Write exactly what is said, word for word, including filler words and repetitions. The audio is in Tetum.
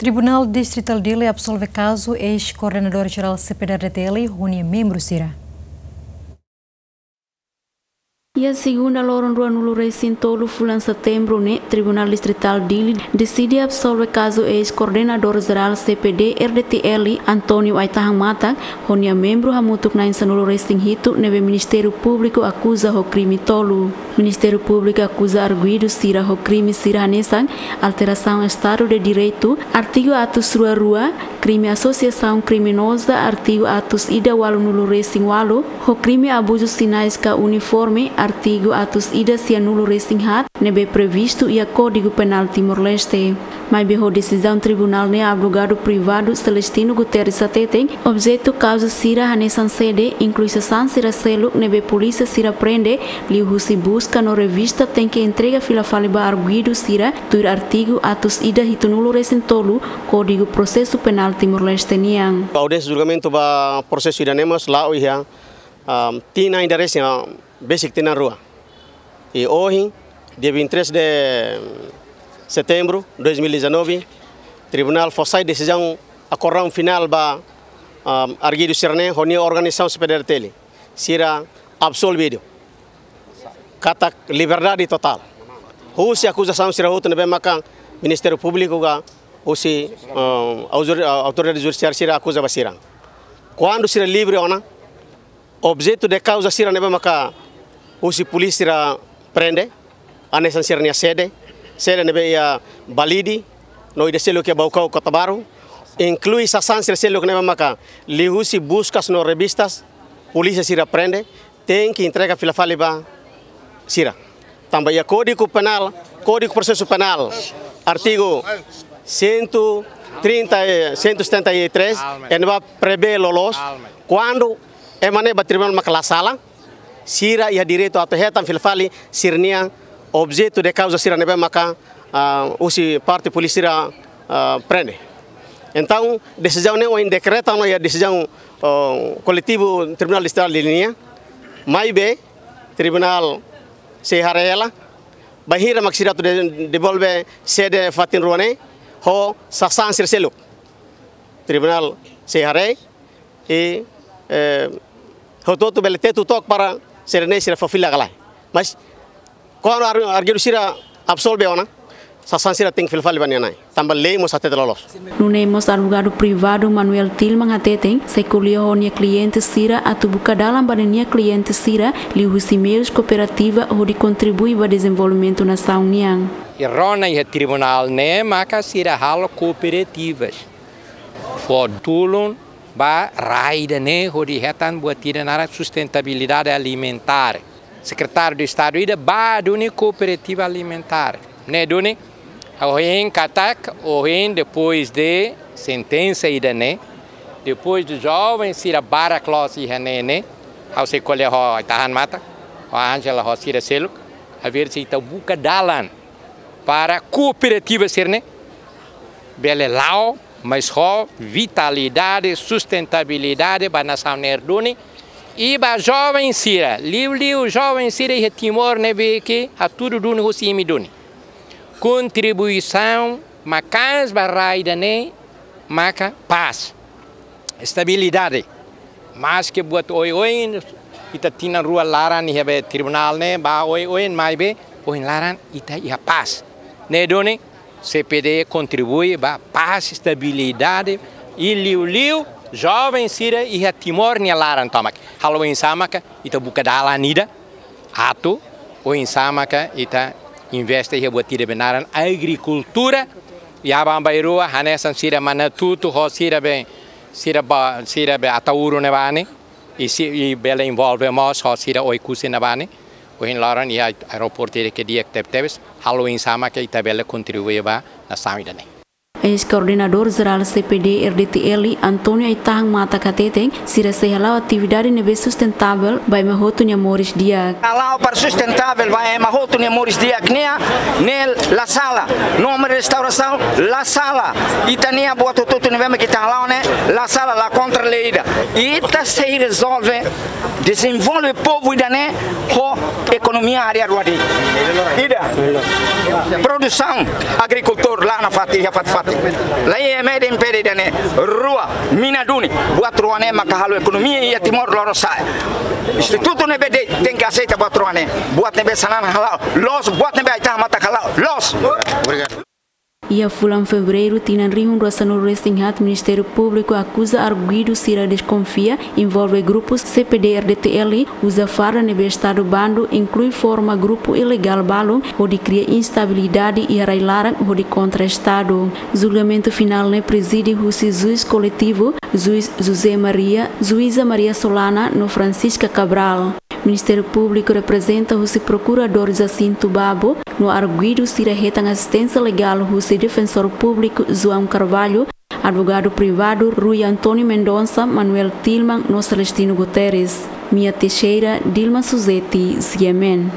Tribunál Distritál Dili absolve kazu eis-koordenadór jerál C P D R D T L ho nia membru sira. Iha segunda loron ruanulu resin tolu fulan setembru ne'e, Tribunál Distritál Dili deside absolve kazu eis-koordenadór jerál C P D R D T L, António Aitahan Matak, ho nia membru hamutuk na'in sanulu resin hitu ne'ebé Ministériu Públiku akuza ho krime tolu. Ministériu Públiku akuza arguidu sira ho krime sira hanesan alterasaun Estadu de Direitu, artigu atus rua rua, krime asosiasaun kriminoza, artigu atus ida ualunulu resin ualu, ho krime abuzu sinais ka uniforme, artigu atus ida sianulu resin haat, ne'ebé previstu iha Kódigu Penál Timor-Leste. Maibé ho desizaun tribunál ne'e, advogadu privadu Celestino Guterres hateten, objetu kauza sira hanesan sede, inklui sasán sira seluk ne'ebé polísia sira prende, liuhusi buska no revista tenke entrega fila fali ba arguidu sira, tuir artigu atus ida hitunulu resin tolu Kódigu Prosesu Penál Timor-Leste nian. Audiénsia julgamentu ba prosesu ida-ne'e mós la'o iha, ah, tinan ida resin, ah, besik tinan rua. I ohin, dia vinte e três de setembro de dois mil e dezanove, tribunál fó sai desizaun akordaun finál ba, ah, arguidu sira-ne'e ho nia organizasaun C P D R T L. Sira absolvidu. Katak liberdade totál. Husi akuzasaun sira hotu ne'ebé maka Ministériu Públiku ka husi, ah, autori-, ah, autoridade judisiária sira akuza ba sira. Kuandu sira livre ona, objetu de kauza sira ne'ebé maka husi polísia sira prende, hanesan sira-nia sede, sede ne'ebé iha Balide, no ida seluk iha Baucau Kota Baru, inklui sasán sira seluk ne'ebé maka liuhusi buskas no revistas, polísia sira prende, tenke entrega fila fali ba sira. Tanba iha Kódigu Penál, Kódigu Prosesu Penál, artigu cento e trinta e, cento e setenta e três, ne'ebé prevee loloos, kuandu ema ne'e ba tribunál maka la sala, sira iha direitu atu hetan fila fali sira-nia objetu de kauza sira ne'ebé maka, ah, husi parte polísia sira, ah, prende. Entaun, desizaun ne'e ohin dekreta ona iha desizaun, ah, koletivu Tribunál Distritál Dili nian, maibé tribunál sei haree hela bainhira mak sira atu de-, devolve sede fatin rua ne'e ho sasán sira seluk. Tribunál sei haree i, eh, hotu-hotu bele tetu took para sira-ne'e sira fó fila ka lae. Mas kuandu ar-, arguidu sira absolve ona, sasán sira tenke fila fali ba nia na'i. Tanba lei mós hatete loloos. Nune'e mós advogadu privadu Manuel Tilman hateten, sei ko'alia ho nia kliente sira atu buka dalan ba nia kliente sira, liuhusi meius kooperativa hodi kontribui ba dezenvolvimentu nasaun nian. I rona iha tribunál ne'e maka sira halo kooperativas. Fó tulun ba rai ida-ne'e hodi hetan buat ida naran sustentabilidade alimentár. Sekretáriu de Estadu ida bá duni kooperativa alimentár. Ne'e duni, ohin katak, ohin depois de sentensa ida-ne'e, depois de joven sira barak loos iha ne'e ne'e, ha'u sei ko'alia ho Aitahan Matak, ho Ángela, ho sira seluk, haver se ita buka dalan para kooperativa sira-ne'e bele la'o, mas ho vitalidade, sustentabilidade ba nasaun ne'e duni. I ba joven sira, liuliu joven sira iha Timor ne'ebé ke hatudu duni husi imi duni. Kontribuisaun maka'as ba rai ida-ne'e maka pás, estabilidade. Maske buat oioin, ita tinan rua laran iha be tribunál ne'e, ba oioin maibé, ohin laran ita iha pás. Ne'e duni, C P D kontribui ba pás, estabilidade, i liuliu joven sira iha Timor nia laran tomak. Halo oinsá maka ita buka dalan ida atu oinsá maka ita investe iha buat ida be naran agrikultura, i aban-bainrua hanesan sira Manatutu ho sira be, sira ba, sira be Ataúro ne'ebá ne'e, i si, i bele envolve mós ho sira Oekusi ne'ebá ne'e, ohin loron iha aeroportu ida ke di'ak tebetebes, halo oinsá maka ita bele kontribui ba nasaun ida-ne'e. Eis-koordenadór jerál C P D R D T L, António Aitahan Matak hateten, sira sei hala'o atividade ne'ebé sustentavel ba ema hotu nia moris di'ak. Hala'o para sustentavel ba ema hotu nia moris di'ak nian, ne'e la sala. Nome restaurasaun, la sala. Ita-nia buat hotu-hotu ne'ebé mak ita hala'o ne'e, la sala, la kontra lei ida. Ita sei rezolve, dezenvolve povu ida-ne'e ho ekonomia área rua de'it. Ida, produsaun, agrikultór, la nafatin, iha fatin-fatin. Lei ema de impede dane rua mina duni. Buat rua ne'e maka halo ekonomia iha Timor lorosa'e. Institutu ne'ebé de'it tenke aseita buat rua ne'e. Buat ne'ebé sanan hala'o loos, buat ne'ebé ai-tahan matak hala'o loos. Iha fulan Fevereiru tinan rihun rua sanulu resin haat, Ministériu Públiku akuza arguidu sira deskonfia envolve grupu C P D R D T L uza farda ne'ebé Estadu bandu, inklui forma grupu ilegál balu hodi kria instabilidade iha rai-laran hodi kontra Estadu. Julgamentu finál ne'e prezide husi juís koletivu, juís José Maria, juíza Maria Solana no Francisca Cabral. Ministériu Públiku reprezenta husi Prokuradór Jacinto Babo, no arguidu sira hetan asisténsia legál husi Defensór Públiku João Carvalho, advogadu privadu Rui António Mendonça, Manuel Tilman no Celestino Guterres. Mia Teixeira, Dilma Suzeti, C M N.